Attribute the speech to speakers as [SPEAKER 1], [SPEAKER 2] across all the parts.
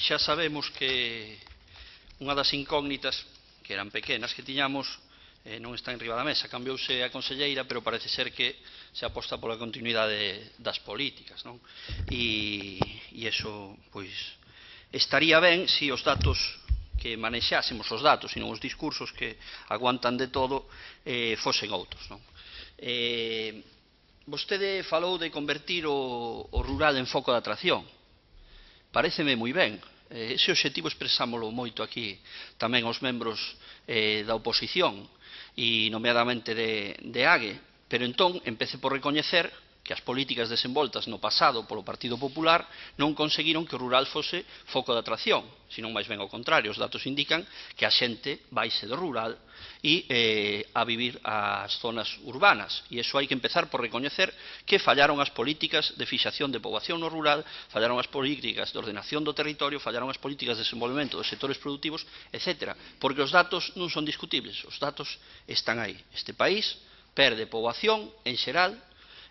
[SPEAKER 1] xa sabemos que unha das incógnitas, que eran pequenas, que tiñamos, non está enriba da mesa. Cambiouse a conselleira, pero parece ser que se aposta pola continuidade das políticas, non? E iso, pois, estaría ben se os datos que manexásemos, os datos e non os discursos que aguantan de todo, fosen outros, non? Vostede falou de convertir o rural en foco de atracción. Paréceme moi ben. Ese obxectivo expresámolo moito aquí tamén os membros da oposición e nomeadamente de AGE, pero entón empece por recoñecer que as políticas desenvoltas no pasado polo Partido Popular non conseguiron que o rural fose foco de atracción, senón máis ben ao contrario. Os datos indican que a xente vaise do rural e a vivir ás zonas urbanas, e iso hai que empezar por recoñecer que fallaron as políticas de fixación de poboación no rural, fallaron as políticas de ordenación do territorio, fallaron as políticas de desenvolvemento dos sectores productivos, etc. Porque os datos non son discutibles, os datos están aí. Este país perde poboación en xeral,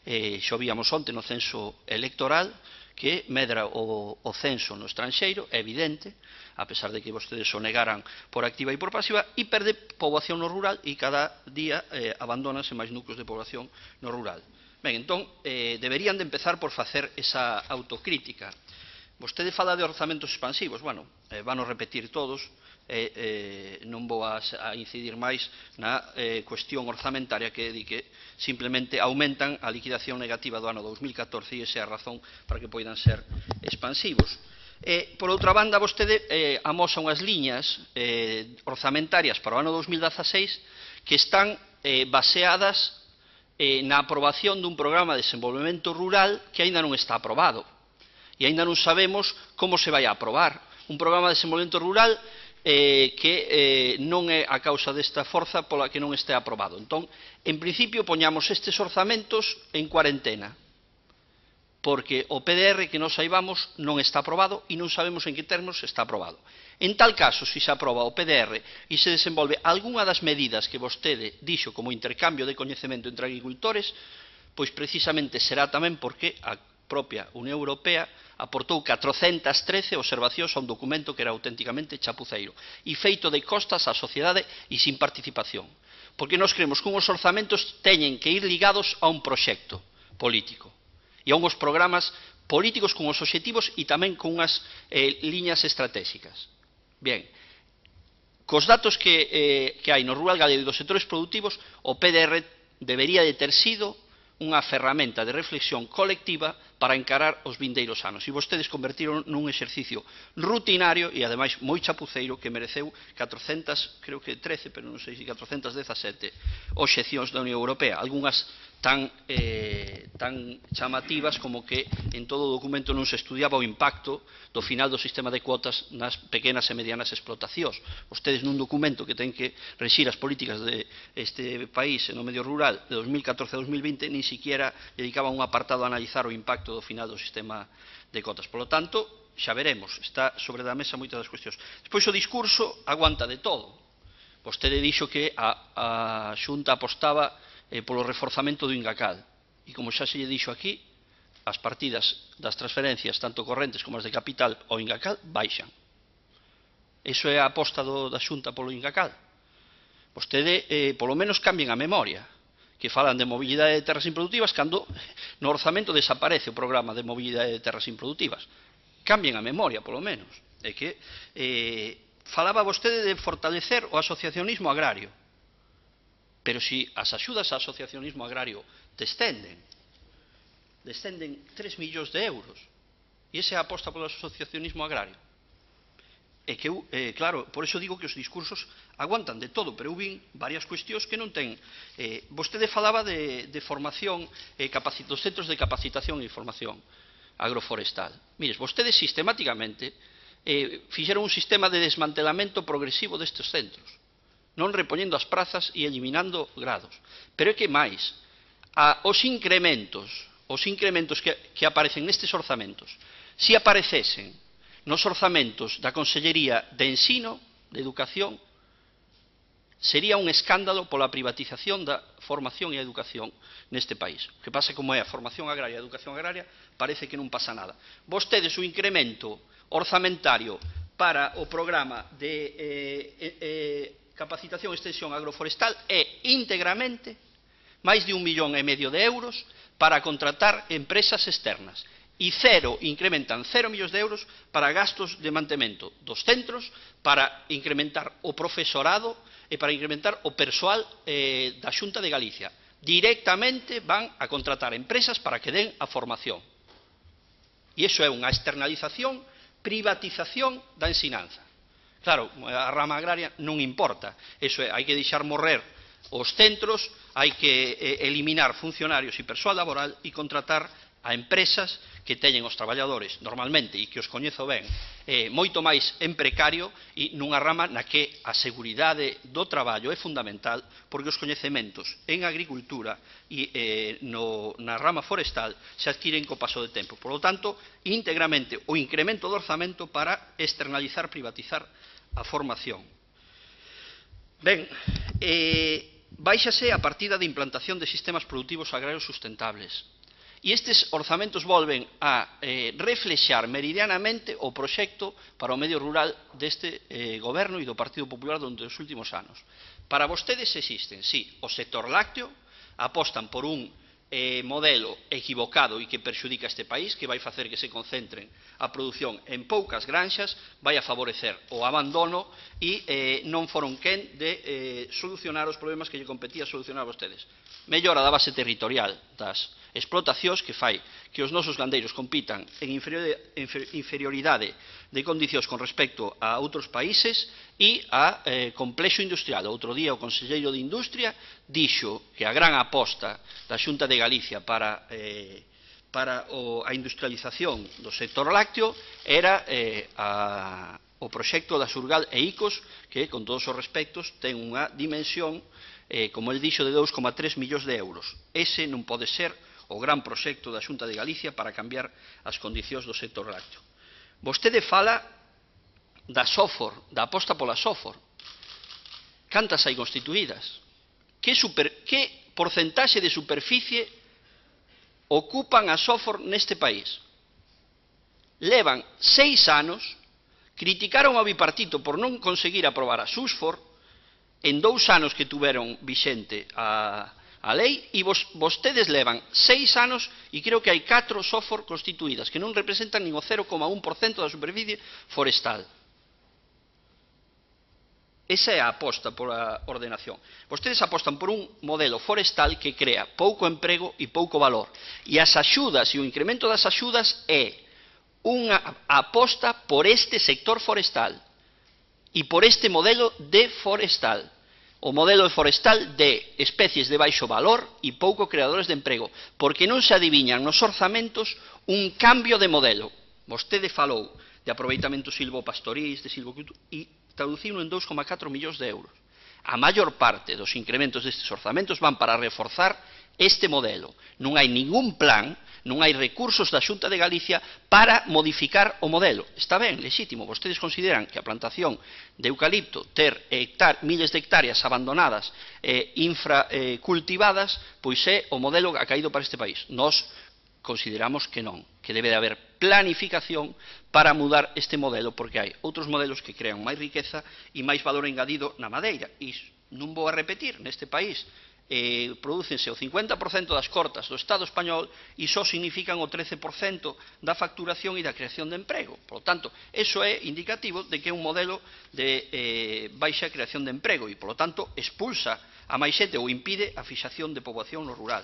[SPEAKER 1] xo víamos onte no censo electoral, que medra o censo no estranxeiro, é evidente, a pesar de que vostedes o negaran por activa e por pasiva, e perde poboación no rural e cada día abandónanse máis núcleos de poboación no rural. Ben, entón, deberían de empezar por facer esa autocrítica. Vostede fala de orzamentos expansivos, bueno, van a repetir todos, non vou a incidir máis na cuestión orzamentaria que di que simplemente aumentan a liquidación negativa do ano 2014 e esa é a razón para que poidan ser expansivos. Por outra banda, vostede amosa unhas liñas orzamentarias para o ano 2016 que están baseadas na aprobación dun programa de desenvolvemento rural que aínda non está aprobado e aínda non sabemos como se vai a aprobar. Un programa de desenvolvemento rural que non é a causa desta forza pola que non este aprobado. Entón, en principio, poñamos estes orzamentos en cuarentena, porque o PDR que nos saibamos non está aprobado e non sabemos en que termos está aprobado. En tal caso, se se aproba o PDR e se desenvolve algunha das medidas que vostede dixo como intercambio de coñecemento entre agricultores, pois precisamente será tamén porque a propia Unión Europea aportou 413 observacións a un documento que era auténticamente chapuceiro e feito de costas á sociedade e sin participación. Porque nós creemos que unhos orzamentos teñen que ir ligados a un proxecto político e a unhos programas políticos con os obxectivos e tamén con unhas liñas estratégicas. Bien, cos datos que hai no rural galego e dos sectores productivos, o PDR debería de ter sido unha ferramenta de reflexión colectiva para encarar os vindeiros anos. E vostedes convertiron nun exercicio rutinario e, ademais, moi chapuceiro que mereceu 400, creo que 13, pero non sei se 417 obxeccións da Unión Europea. Algúnas tan chamativas como que en todo o documento non se estudiaba o impacto do final do sistema de cuotas nas pequenas e medianas explotacións. Vostedes nun documento que ten que rexir as políticas deste país no medio rural de 2014 a 2020 nin siquiera dedicaban un apartado a analizar o impacto do final do sistema de cotas. Por lo tanto, xa veremos, está sobre da mesa moitas das cuestións. Despois o discurso aguanta de todo. Vostede dixo que a Xunta apostaba polo reforzamento do Ingacal. E como xa se lle dixo aquí, as partidas das transferencias, tanto correntes como as de capital ao Ingacal, baixan. Iso é a aposta da Xunta polo Ingacal. Vostede, polo menos, cambien a memoria, que falan de mobilidade de terras improductivas cando no orzamento desaparece o programa de mobilidade de terras improductivas. Cambien a memoria, polo menos. É que falaba vostede de fortalecer o asociacionismo agrario. Pero se as axudas ao asociacionismo agrario descenden 3 millóns de euros, e esa é a aposta polo asociacionismo agrario. É que, claro, por iso digo que os discursos aguantan de todo, pero eu vin varias cuestións que non ten. Vostede falaba de formación, dos centros de capacitación e formación agroforestal. Mires, vostedes sistemáticamente fixeron un sistema de desmantelamento progresivo destes centros, non repoñendo as prazas e eliminando grados. Pero é que máis, os incrementos que aparecen nestes orzamentos, se aparecesen nos orzamentos da Consellería de Ensino, de Educación, sería un escándalo pola privatización da formación e a educación neste país. O que pasa como é a formación agraria e a educación agraria, parece que non pasa nada. Vostedes o incremento orzamentario para o programa de capacitación e extensión agroforestal é íntegramente máis de 1,5 millón de euros para contratar empresas externas e incrementan 0 millóns de euros para gastos de mantemento dos centros, para incrementar o profesorado e para incrementar o persoal da Xunta de Galicia. Directamente van a contratar empresas para que den a formación. E iso é unha externalización, privatización da ensinanza. Claro, a rama agraria non importa, eso é, hai que deixar morrer os centros, hai que eliminar funcionarios e persoal laboral e contratar a empresas que teñen os traballadores normalmente e que os coñezo ben moito máis en precario e nunha rama na que a seguridade do traballo é fundamental porque os coñecementos en agricultura e na rama forestal se adquiren co paso do tempo. Por lo tanto, íntegramente o incremento do orzamento para externalizar, privatizar a formación. Ben, báixase a partida de implantación de sistemas productivos agrarios sustentables. E estes orzamentos volven a reflexar meridianamente o proxecto para o medio rural deste goberno e do Partido Popular durante os últimos anos. Para vostedes existen, sí, o sector lácteo, apostan por un modelo equivocado e que perxudica este país, que vai facer que se concentren a produción en poucas granxas, vai a favorecer o abandono e non foron quen de solucionar os problemas que lle competía solucionar a vostedes. Mellora da base territorial das explotacións que fai que os nosos gandeiros compitan en inferioridade de condicións con respecto a outros países e a complexo industrial. Outro día o conselleiro de Industria dixo que a gran aposta da Xunta de Galicia para a industrialización do sector lácteo era o proxecto da Surgal e ICOS, que, con todos os respectos, ten unha dimensión, como el dixo, de 2,3 millóns de euros. Ese non pode ser o gran proxecto da Xunta de Galicia para cambiar as condicións do sector lácteo. Vostede fala da SOFOR, da aposta pola SOFOR. Cantas hai constituídas? Que porcentaxe de superficie ocupan a SOFOR neste país? Levan 6 anos, criticaron ao bipartito por non conseguir aprobar a SUSFOR en 2 anos que tuveron vixente a lei e vostedes levan 6 anos e creo que hai 4 SOFOR constituídas que non representan nin o 0,1% da superficie forestal. Esa é a aposta pola ordenación. Vostedes apostan por un modelo forestal que crea pouco emprego e pouco valor. E as axudas e o incremento das axudas é unha aposta por este sector forestal e por este modelo de forestal. O modelo forestal de especies de baixo valor e pouco creadores de emprego, porque non se adiviñan nos orzamentos un cambio de modelo. Vostede falou de aproveitamento silvopastorís, de silvocultura, e traduciu en 2,4 millóns de euros. A maior parte dos incrementos destes orzamentos van para reforzar este modelo. Non hai ningún plan, non hai recursos da Xunta de Galicia para modificar o modelo. Está ben, lexítimo, vostedes consideran que a plantación de eucalipto, ter miles de hectáreas abandonadas infracultivadas, pois é o modelo que ha caído para este país. Nós consideramos que non, que debe de haber planificación para mudar este modelo, porque hai outros modelos que crean máis riqueza e máis valor engadido na madeira. E non vou a repetir, neste país prodúcense o 50% das cortas do Estado español e só significan o 13% da facturación e da creación de emprego. Por lo tanto, eso é indicativo de que é un modelo de baixa creación de emprego e, por lo tanto, expulsa a máis xente ou impide a fixación de poboación no rural.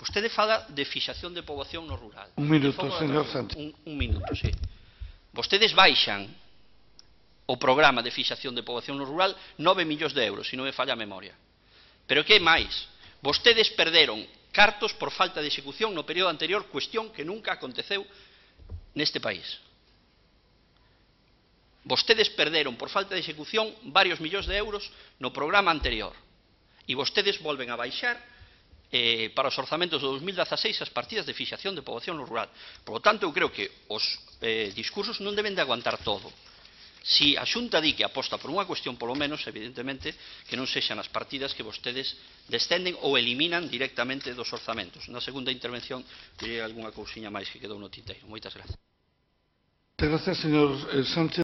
[SPEAKER 1] Vostede fala de fixación de poboación no rural.
[SPEAKER 2] Un minuto, señor Santos.
[SPEAKER 1] Un minuto, sí. Vostedes baixan o programa de fixación de poboación no rural 9 millóns de euros, se non me falla a memoria. Pero que máis? Vostedes perderon cartos por falta de execución no período anterior, cuestión que nunca aconteceu neste país. Vostedes perderon por falta de execución varios millóns de euros no programa anterior. E vostedes volven a baixar para os orzamentos de 2016 as partidas de fixación de poboación no rural. Por lo tanto, eu creo que os discursos non deben de aguantar todo. Si a Xunta di que aposta por unha cuestión, polo menos, evidentemente, que non sexan as partidas que vostedes descenden ou eliminan directamente dos orzamentos. Na segunda intervención direi algunha cousiña máis que quedou no tinteiro. Moitas grazas.
[SPEAKER 2] Muchas gracias, señor Sánchez.